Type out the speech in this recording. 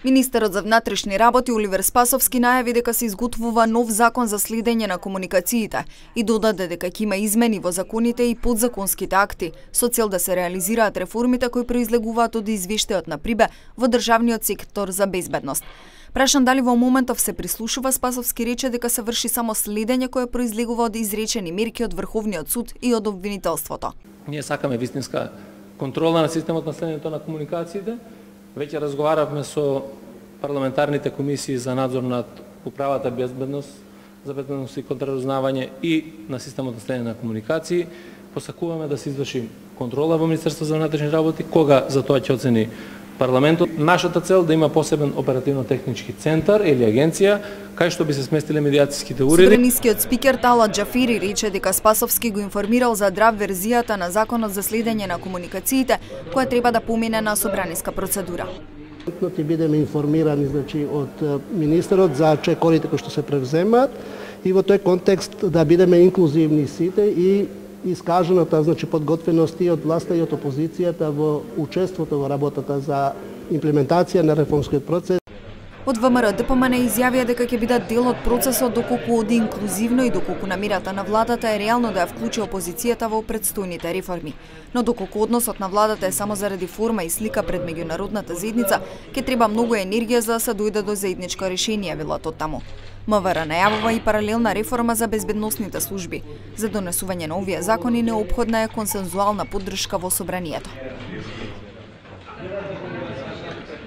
Министерот за внатрешни работи Оливер Спасовски најави дека се изготвува нов закон за следење на комуникациите и додаде дека ќе има измени во законите и подзаконските акти со цел да се реализираат реформите кои произлегуваат од извештајот на ПРИБЕ во државниот сектор за безбедност. Прашан дали во моментов се прислушува, Спасовски рече дека се врши само следење кое произлегува од изречени мерки од Врховниот суд и од обвинителството. Ние сакаме вистинска контрола на системот на следењето на комуникациите. Веќе разговаравме со парламентарните комисии за надзор над управата за безбедност и контраразузнавање и на системот на следење на комуникации. Посакуваме да се изврши контрола во Министерството за внатрешни работи, кога за тоа ќе оцени парламентот. Нашата цел да има посебен оперативно-технички центар или агенција кај што би се сместиле медијацијските уреди. Собранискиот спикер Талат Џафери рече дека Спасовски го информирал за драв верзијата на законот за следење на комуникациите, која треба да помине на собраниска процедура. Ќе бидеме информирани од министерот за чекорите кои што се превземаат и во тој контекст да бидеме инклузивни сите и искажената подготвеност и од власта и од опозицијата во учеството во работата за имплементација на реформскиот процес. Од ВМРО ДПМН изјавија дека ќе бидат дел од процесот доколку оди инклузивно и доколку намерата на владата е реално да ја вклучи опозицијата во претстојните реформи. Но доколку односот на владата е само заради форма и слика пред меѓународната заедница, ќе треба многу енергија за да се дојде до заедничко решение, велат од таму. МВР најавува и паралелна реформа за безбедносните служби. За донесување на овие закони неопходна е консензуална поддршка во собранието.